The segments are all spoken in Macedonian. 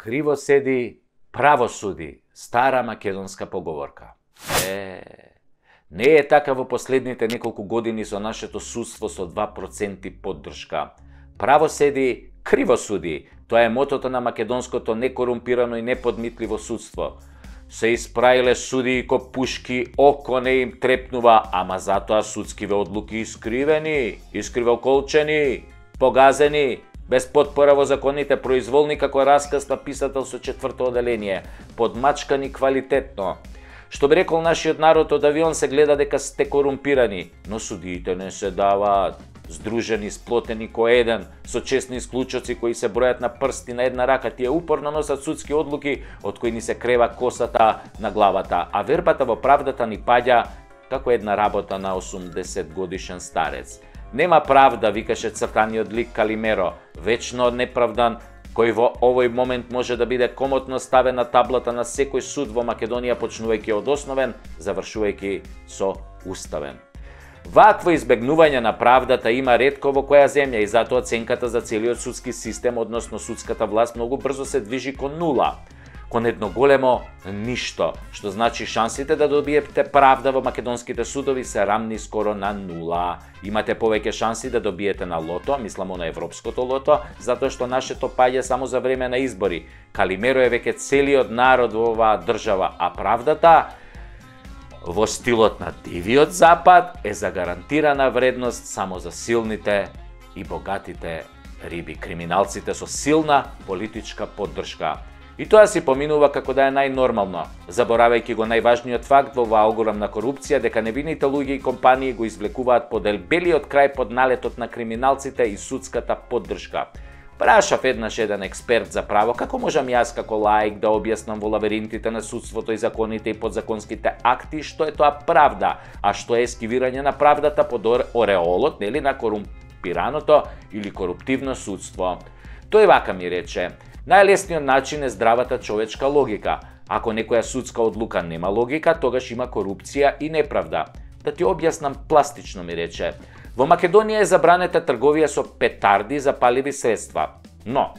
Криво седи, право суди, стара македонска поговорка. Не е така во последните неколку години со нашето судство со 2% поддршка. Право седи, криво суди. Тоа е мотото на македонското некорумпирано и неподмитливо судство. Се испраиле судии ко пушки, око не им трепнува, ама затоа судскиве одлуки искривени, искривоколчени, погазени, без потпора во законите, произволни како расказ на писател со 4-то оделение, подмачкани квалитетно. Што би рекол нашиот народ, од авион се гледа дека сте корумпирани, но судиите не се даваат. Здружени, сплотени ко еден, со честни исклучоци кои се бројат на прсти на една рака, тие упорно носат судски одлуки од кои ни се крева косата на главата, а вербата во правдата ни паѓа како една работа на 80 годишен старец. Нема правда, викаше цртаниот лик Калимеро, вечно неправдан, кој во овој момент може да биде комотно ставен на таблата на секој суд во Македонија, почнувајќи од основен, завршувајќи со уставен. Вакво избегнување на правдата има ретко во која земја и затоа оценката за целиот судски систем, односно судската власт, многу брзо се движи кон нула, кон едно големо ништо, што значи шансите да добиете правда во македонските судови се рамни скоро на нула. Имате повеќе шанси да добиете на лото, мислам на европското лото, затоа што нашето паѓа само за време на избори. Калимеро е веќе целиот народ во оваа држава, а правдата во стилот на дивиот запад е за гарантирана вредност само за силните и богатите риби, криминалците со силна политичка поддршка. И тоа си поминува како да е најнормално, заборавајќи го најважниот факт во оваа огромна корупција, дека невините луѓе и компании го извлекуваат поделбелиот крај под налетот на криминалците и судската поддршка. Прашав еднаш еден експерт за право како можам јас како лаик да објаснам во лабиринтите на судството и законите и подзаконските акти што е тоа правда, а што е ескивирање на правдата под ореолот, нели, на корумпираното или коруптивно судство. Тој вака ми рече: најлесниот начин е здравата човечка логика. Ако некоја судска одлука нема логика, тогаш има корупција и неправда. Да ти објаснам пластично, ми рече. Во Македонија е забранета трговија со петарди за паливи средства. Но,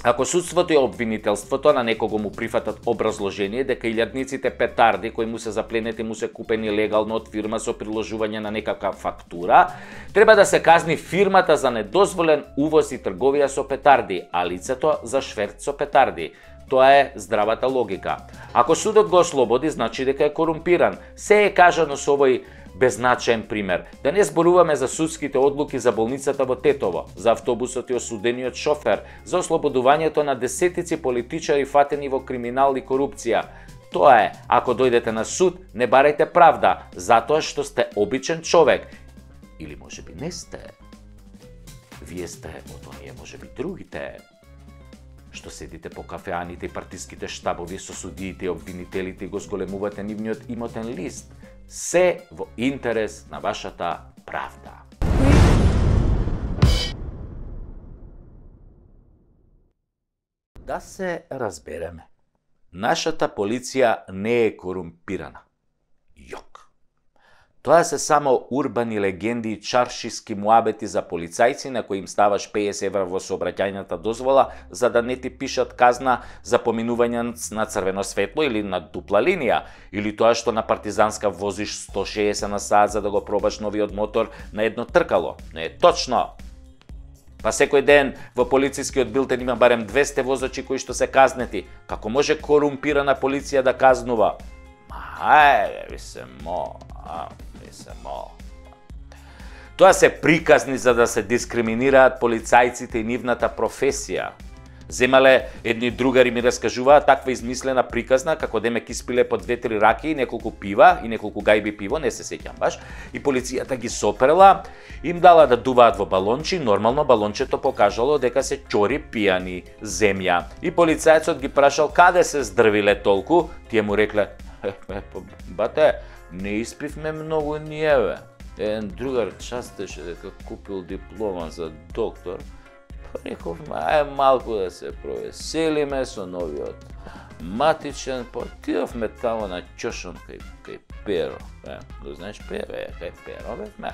ако судството и обвинителството на некого му прифатат образложение дека илјадниците петарди кои му се запленети му се купени легално од фирма со приложување на некаква фактура, треба да се казни фирмата за недозволен увоз и трговија со петарди, а лицето за шверц со петарди. Тоа е здравата логика. Ако судот го ослободи, значи дека е корумпиран. Се е кажано со овој беззначаен пример. Да не зборуваме за судските одлуки за болницата во Тетово, за автобусот и осудениот шофер, за ослободувањето на десетици политичари фатени во криминал и корупција. Тоа е, ако дојдете на суд, не барајте правда, затоа што сте обичен човек. Или можеби не сте. Вие сте од оние можеби другите, што седите по кафеаните и партиските штабови со судиите и обвинителите и го зголемувате нивниот имотен лист. Се во интерес на вашата правда. Да се разбереме. Нашата полиција не е корумпирана. Јок. Тоа се само урбани легенди и чаршиски муабети за полицајци на кои им ставаш 50 евра во сообраќајната дозвола за да не ти пишат казна за поминување на црвено светло или на дупла линија, или тоа што на партизанска возиш 160 на сат за да го пробаш новиот мотор на едно тркало. Не е точно. Па секој ден во полицискиот билтен има барем 200 возачи кои што се казнети. Како може корумпирана полиција да казнува? Ви се Тоа се приказни за да се дискриминираат полицајците и нивната професија. Земале едни другари ми раскажуваат таква измислена приказна како демек испиле по 2-3 раки и неколку пива и неколку гајби пиво, не се сеќам баш, и полицијата ги сопрела, им дала да дуваат во балончи, нормално балончето покажало дека се ќори пијани земја. И полицајецот ги прашал каде се здрвиле толку, тие му рекле: бате, не испивме многу ниеве. Еден другар частеше дека купил диплома за доктор. Рековме, малку да се провеселиме со новиот матичен, отидовме тамо на ќошон кај Перо. Го знаеш Перо? Кај Перо бевме.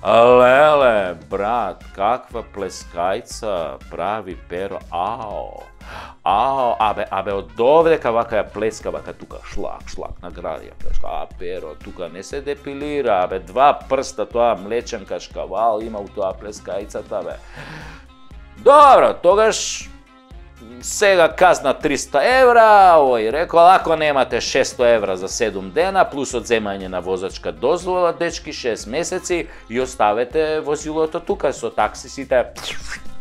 Леле, брат, каква плескајца прави Перо. Ао, Абе, од овдека вака ја плеска, вака тука, шлак, награди ја плеска, Перо, тука не се депилира, абе, 2 прста, тоа млеченка шкавал има у тоа плескајцата, бе. Добро, тогаш, сега казна 300 евра, овој рекол, ако немате 600 евра за 7 дена, плюс одземање на возачка дозвола, дечки 6 месеци, и оставете возилото тука со таксисите,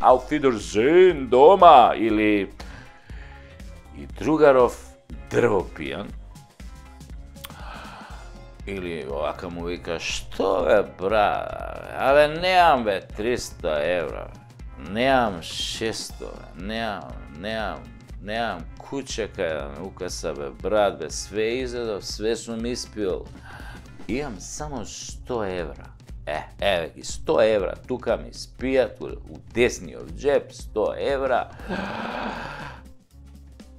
auf Wiedersehen дома, или... И другаров дрвопијан, или овака му вика, што бе, брат, абе, неам бе 300 евра, неам 600, неам кучека, укаса бе, брат, бе, све изедов, све сум испил, имам само 100 евра. Еве ги 100 евра, тука ми спијат, у десниот джеп, 100 евра.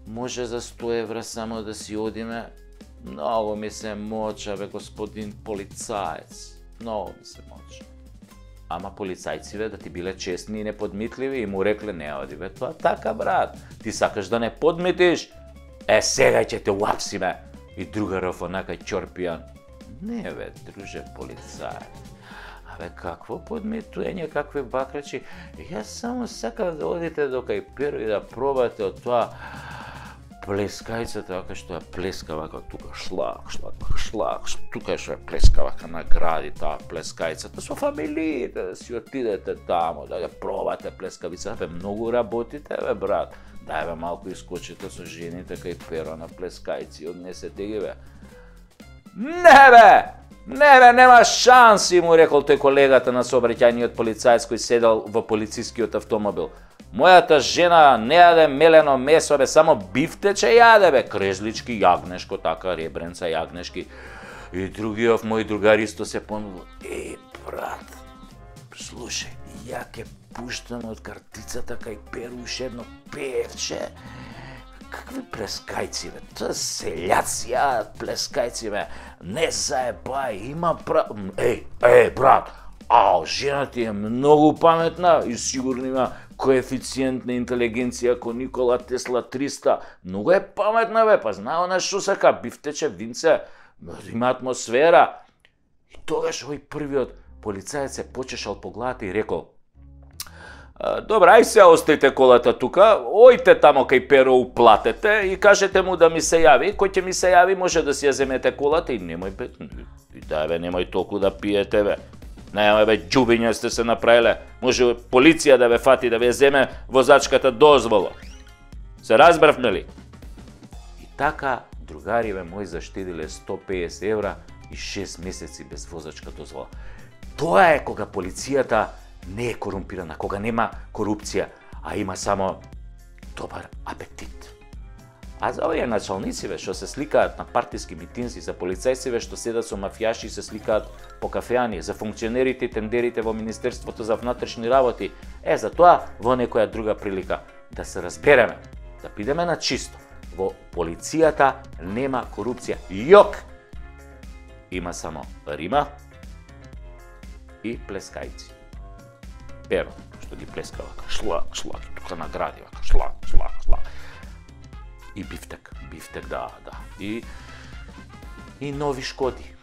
Може за 100 евра само да си одиме? Многу ми се моча, бе, господин полицаец. Многу ми се моча. Ама полицајциве да ти биле честни и неподмитливи и му рекле, не оди, бе, тоа така, брат. Ти сакаш да не подмитиш? Сега ќе те уапсиме. И другаров онака ќорпијан. Не, бе, друже полицаец. Абе, какво подмитување, какви бакрачи? Јас само сакам да одите до кај Перо и да пробате од тоа плескајцата, вака што ја плеска, вака тука шлак, тука што ја плеска, вака награди таа плескајцата, со фамилиите, да си отидете тамо, да ја пробате плескавица, бе, многу работите, бе, брат, дај бе, малку искочите со жените кај Перо на плескајци, однесете ги, бе. Не, бе, нема шанси, му рекол тој колегата на сообраќајниот полицаец кој седел во полицискиот автомобил. Мојата жена не јаде мелено месо, бе, само бифтече јаде, бе, крезлички, јагнешко, така, ребренца, јагнешки. И другиот мој другар исто се понудил. Брат, слушај, ја ке пуштам од картицата кај Перу уште едно певче. Какви плескајци, бе, тоа селјаци јадат плескајци, бе, не заебај, има брат, жена ти е многу паметна и сигурно има коефициент на интелигенција ко Никола Тесла 300. Многу е паметна, бе, па знае она што сака, бифтече, винце, има атмосфера. И тогаш овој првиот полицаец се почешал по главата и рекол, добра, ај се остајте колата тука, ојте тамо кај Перо, уплатете и кажете му да ми се јави, кој ќе ми се јави може да си ја земете колата и немој, бе, немој толку да пиете, бе. Немој, бе, џубиња сте се направиле. Може полиција да ве фати, да ве земе возачката дозвола. Се разбравме ли? И така, другариве мои заштедиле 150 евра и 6 месеци без возачка дозвола. Тоа е кога полицијата не е корумпирана, кога нема корупција, а има само добар апетит. А за овие началнициве што се сликаат на партиски митинзи, за полицајциве што седат со мафијаши и се сликаат по кафеани, за функционерите и тендерите во Министерството за внатрешни работи, за тоа во некоја друга прилика да се разбереме, да бидеме на чисто. Во полицијата нема корупција. Јок! Има само Рима и плескајци. Перо, што ги плеска вака, шлак, тука награди вака, шлак. И бифтек, да. И нови Шкоди.